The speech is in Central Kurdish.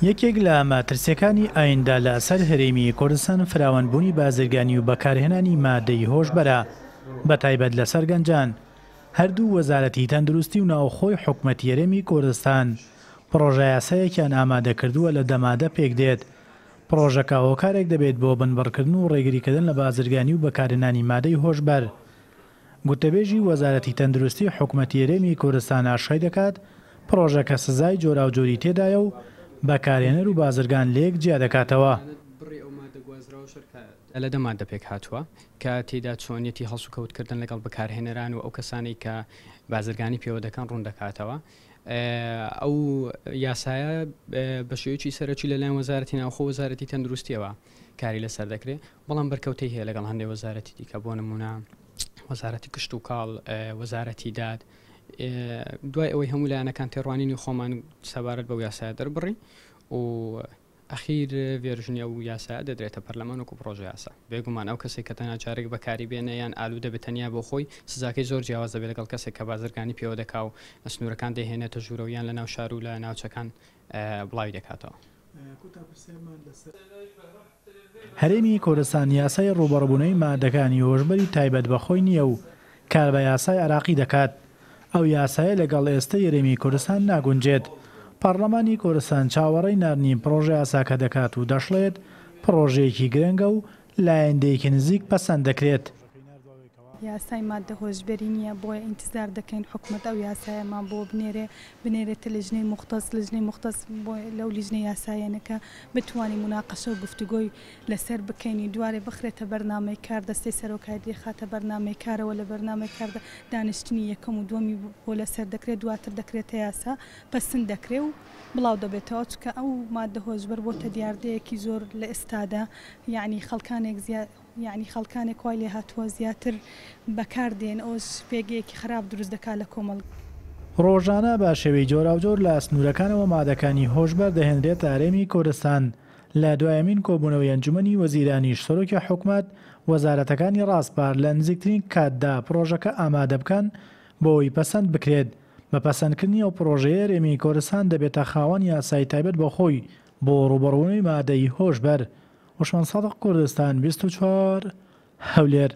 یەکێک لە مەترسییەکانی ئایندە لە سەر هەرێمی کوردستان فراوانبوونی بازرگانی و بەکارهێنانی مادەی هۆشبەرە، بەتایبەت لەسەر گەنجان. هەردوو وەزارەتی تەندروستی و ناوخۆی حکومەتی هەرێمی کوردستان پڕۆژەیاسایەکیان ئامادەکردووە لە دە مادە پێکدێت، پڕۆژەکە هۆکارێک دەبێت بۆ بنبڕکردن و ڕێگریکردن لە بازرگانی و بەکارهێنانی مادەی هۆشبەر. گوتەبێژی وەزارەتی تەندروستی حکومەتی هەرێمی کوردستان ئاشکرای دەکات، پڕۆژەکە سزای جۆراوجۆری تێدایە و بەکارهێنەر و بازرگان لەیەک جیا دەکاتەوە. لە دە ماددە پێکهاتووە کە تێیدا چۆنیەتی هەڵسوکەوتکردن لەگەڵ بەکارهێنەران و ئەو کەسانەی کە بازرگانی پێوە دەکەن ڕوون دەکاتەوە. ئەو یاسایە بە شێوەیەکی سەرەکی لەلایەن وەزارەتی ناوخۆ و وەزارەتی تەندروستیەوە کاری لەسەر دەکرێت، بەڵام بەرکەوتەی هەیە لەگەڵ هەندێک وەزارەتی دیکە بۆ نمونە وەزارەتی کشتوکاڵ، وەزارەتی داد. دوای ئەوەی هەموو لایەنەکان تێڕوانینی خۆمان سەبارەت بەو یاسایە دەربڕی و ئەخیر ڤێرژنی ئەو یاسایە دەدرێتە پەرلەمان وەکو پڕۆژە یاسا. بێگومان ئەو کەسەی کە تەنها جارێک بەکاری بێنێ یان ئالوودە بێت تەنیا بۆ خۆی، سزاکەی زۆر جیاواز دەبێت لەگەڵ کەسێک کە بازرگانی پێوە دەکا و لە سنوورەکان دەیهێنێتە ژوورەوە یان لە ناو شار و لە ناوچەکان بڵاوی دەکاتەوە. هەرێمی کوردستان یاسای ڕووبەڕووبوونەوەی مادەکانی هۆشبەری تایبەت بە خۆی نییە و کار بە یاسای عێراقی دەکات. ئەو یاسایە لەگەڵ ئێستەی هەرێمی کوردستان ناگونجێت. پەڕڵەمانی کوردستان چاوەڕێی ناردنی پڕۆژەیاساکە دەکات و دەشڵێت، پڕۆژەیەکی گرنگە و لە ئایندەیەکی نزیک پەسەند دەکرێت. یاسای ماددە هۆشبەری نییە، بۆیە ئینتزار دەکەین حکومەت ئەو یاسایەمان بۆ بنێرێ، بنێرێتە لیژنەی موختەس، لیژنەی موختەس بۆ لەو لیژنە یاساییانە کە بتوانین موناقەشە و گفتوگۆی لەسەر بکەین و دوارێ بخرێتە بەرنامەی کار، دەستەی سەرۆکایەتی دەیخاتە بەرنامەی کارەوە، لە بەرنامەی کاردا دانیشتنی یەکەم و دووەمی بۆ لەسەر دەکرێت، دواتر دەکرێتە یاسا، پەسند دەکرێ و بڵاو دەبێتەوە، چونکە ئەو ماددە هۆشبەر بۆتە دیاردەیەکی زۆر لە ئێستادا، یەعنی خەڵکانێک زیا یەعنی خەڵکانێک وای لێهاتووە زیاتر بەکار دێن ئەوەش پێگەیەکی خراپ دروست دەکات لە کۆمەڵگا. ڕۆژانە بە شێوەی جۆراوجۆر لە سنوورەکانەوە مادەکانی هۆشبەر دەهێنرێتە هەرێمی کوردستان، لە دوایەمین کۆبوونەوەی ئەنجومەنی وەزیرانیش سەرۆکی حکومەت وەزارەتەکانی ڕاسپارد لە نزیکترین کاتدا پڕۆژەکە ئامادە بکەن بۆ ئەوەی پەسەند بکرێت، بە پەسەندکردنی ئەو پڕۆژەیە هەرێمی کوردستان دەبێتە خاوەن یاسای تایبەت بە خۆی بۆ ڕووبەڕووبوونەوەی مادەی هۆشبەر. عوسمان سادق کوردستان 24 هەولێر.